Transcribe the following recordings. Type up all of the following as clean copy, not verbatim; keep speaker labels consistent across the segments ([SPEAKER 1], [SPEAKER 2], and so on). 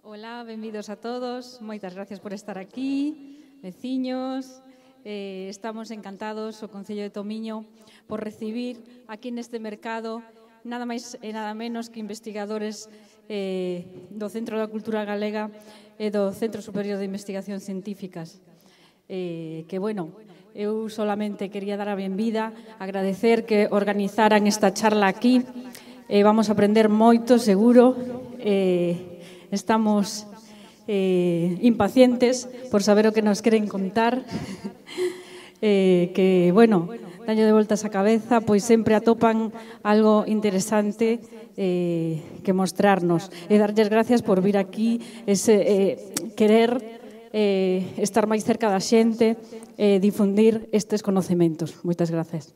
[SPEAKER 1] Ola, benvidos a todos, moitas gracias por estar aquí, veciños. Estamos encantados, o Concello de Tomiño, por recibir aquí neste mercado nada máis e nada menos que investigadores do Centro da Cultura Galega e do Centro Superior de Investigacións Científicas. Eu solamente quería dar a benvida, agradecer que organizaran esta charla aquí. Vamos a aprender moito, seguro. Estamos impacientes por saber o que nos queren contar. Daño de voltas a cabeza, pois sempre atopan algo interesante que mostrarnos. E darlles gracias por vir aquí, querer estar máis cerca da xente e difundir estes conocementos. Moitas gracias.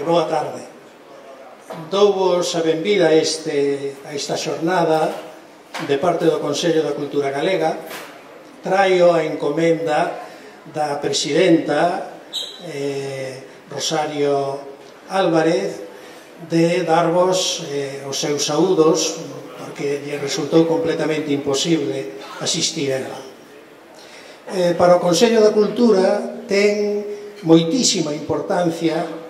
[SPEAKER 2] Boa tarde. Douvos a benvida a esta xornada de parte do Consello da Cultura Galega. Traio a encomenda da presidenta Rosario Álvarez de darvos os seus saúdos, porque lle resultou completamente imposible asistir a ela. Para o Consello da Cultura ten moitísima importancia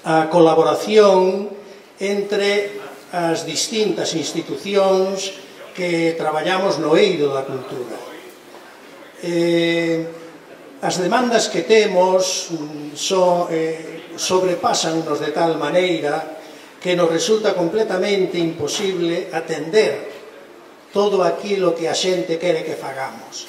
[SPEAKER 2] a colaboración entre as distintas institucións que traballamos no eido da cultura. As demandas que temos sobrepasan-nos de tal maneira que nos resulta completamente imposible atender todo aquilo que a xente quere que fagamos.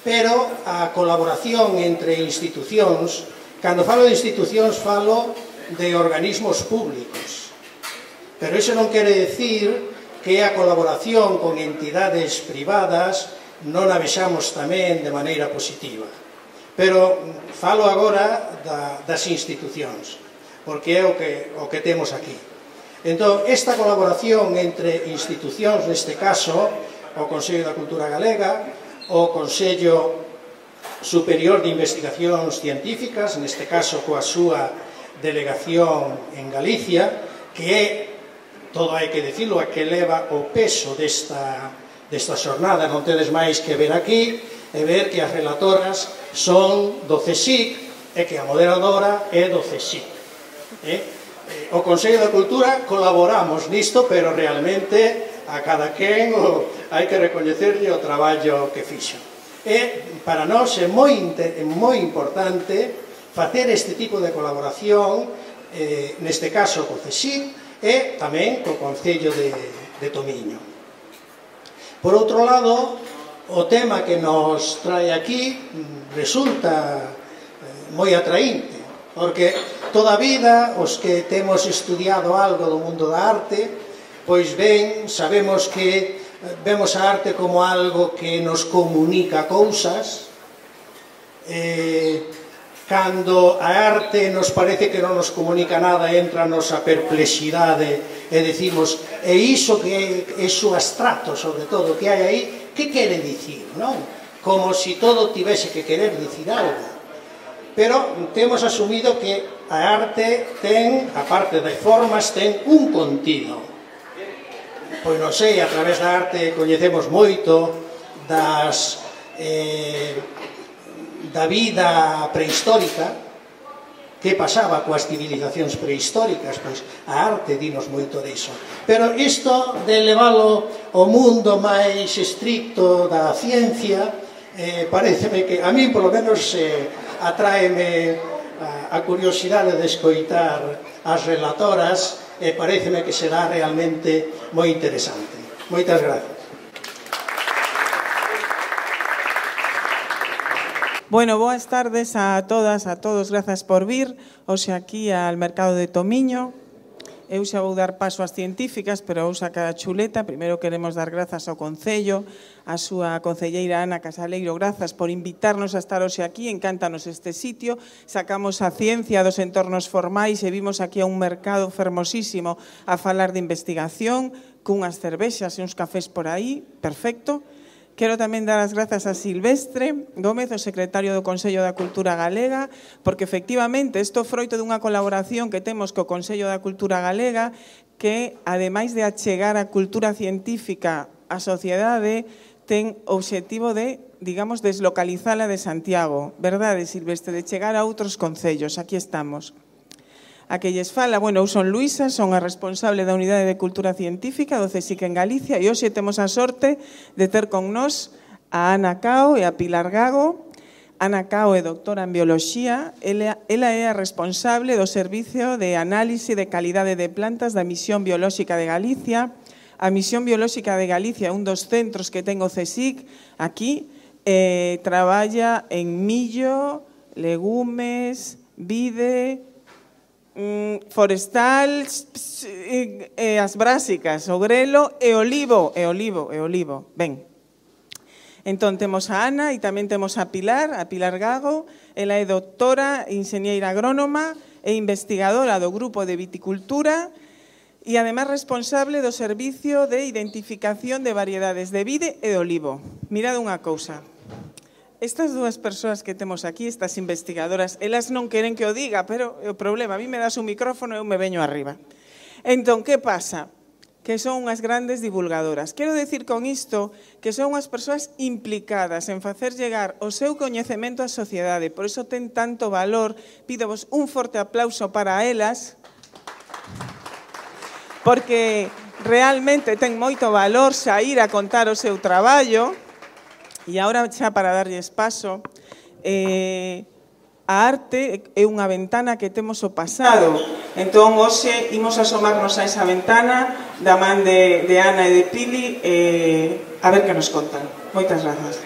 [SPEAKER 2] Pero a colaboración entre institucións, cando falo de institucións falo de organismos públicos, pero iso non quere decir que a colaboración con entidades privadas non a vexamos tamén de maneira positiva. Pero falo agora das institucións, porque é o que temos aquí. Entón, esta colaboración entre institucións, neste caso, o Consello da Cultura Galega, o Consello Superior de Investigacións Científicas, neste caso coa súa delegación en Galicia, que é, todo hai que dicilo, a que leva o peso desta xornada. Non tedes máis que ver aquí e ver que as relatoras son do CSIC e que a moderadora é do CSIC. O Consello da Cultura colaboramos nisto, pero realmente a cada quen hai que recoñecerlle o traballo que fixo. E para nós é moi importante facer este tipo de colaboración, neste caso co CSIC e tamén co Concello de Tomiño. Por outro lado, o tema que nos trae aquí resulta moi atraínte, porque toda a vida os que temos estudiado algo do mundo da arte, pois ben, sabemos que vemos a arte como algo que nos comunica cousas. Cando a arte nos parece que non nos comunica nada, entra-nos a perplexidade e decimos, e iso que é iso abstracto, sobre todo, que hai aí, que quere dicir, non? Como se todo tivese que querer dicir algo. Pero temos asumido que a arte ten, a parte de formas, ten un contido. Pois non sei, a través da arte coñecemos moito da vida prehistórica, que pasaba coas civilizacións prehistóricas, pois a arte dinos moito diso. Pero isto de leválo ao mundo máis estricto da ciencia, pareceme que, a mí polo menos, atráeme a curiosidade de escoitar as relatoras, e pareceme que será realmente moi interesante. Moitas gracias.
[SPEAKER 3] Bueno, boas tardes a todas, a todos, grazas por vir hoxe aquí al Mercado de Tomiño. Eu xa vou dar paso ás científicas, pero vou sacar a chuleta. Primeiro queremos dar grazas ao Concello, a súa concelleira Ana Casaleiro, grazas por invitarnos a estar hoxe aquí, encántanos este sitio. Sacamos a ciencia dos entornos formais e vimos aquí a un mercado fermosísimo a falar de investigación, cunhas cervexas e uns cafés por aí, perfecto. Quero tamén dar as grazas a Silvestre Gómez, o secretario do Consello da Cultura Galega, porque efectivamente isto é froito dunha colaboración que temos co Consello da Cultura Galega que, ademais de achegar a cultura científica á sociedade, ten o obxectivo de, digamos, deslocalizala de Santiago. Verdade, Silvestre? De chegar a outros concellos. Aquí estamos. A que lles fala, bueno, eu son Luisa, son a responsable da Unidade de Cultura Científica do CSIC en Galicia e hoxe temos a sorte de ter con nós a Ana Cao e a Pilar Gago. Ana Cao é doctora en Bioloxía, ela é a responsable do Servicio de Análise de Calidade de Plantas da Misión Biolóxica de Galicia. A Misión Biolóxica de Galicia é un dos centros que ten o CSIC aquí, traballa en millo, legumes, vide, forestal, as brásicas, o grelo e olivo. Ben, entón temos a Ana e tamén temos a Pilar Gago. Ela é doctora, enxeñeira agrónoma e investigadora do Grupo de Viticultura e ademais responsable do Servicio de Identificación de Variedades de Vide e de Olivo. Mirad unha cousa. Estas dúas persoas que temos aquí, estas investigadoras, elas non queren que o diga, pero o problema, a mí me das un micrófono e eu me veño arriba. Entón, que pasa? Que son unhas grandes divulgadoras. Quero decir con isto que son unhas persoas implicadas en facer llegar o seu coñecemento á sociedade. Por iso ten tanto valor. Pídovos un forte aplauso para elas, porque realmente ten moito valor saír a contar o seu traballo. E agora, xa para darlles paso, a arte é unha ventana que temos o pasado. Entón, hoxe, imos asomarnos a esa ventana da man de Ana e de Pili a ver que nos contan. Moitas grazas.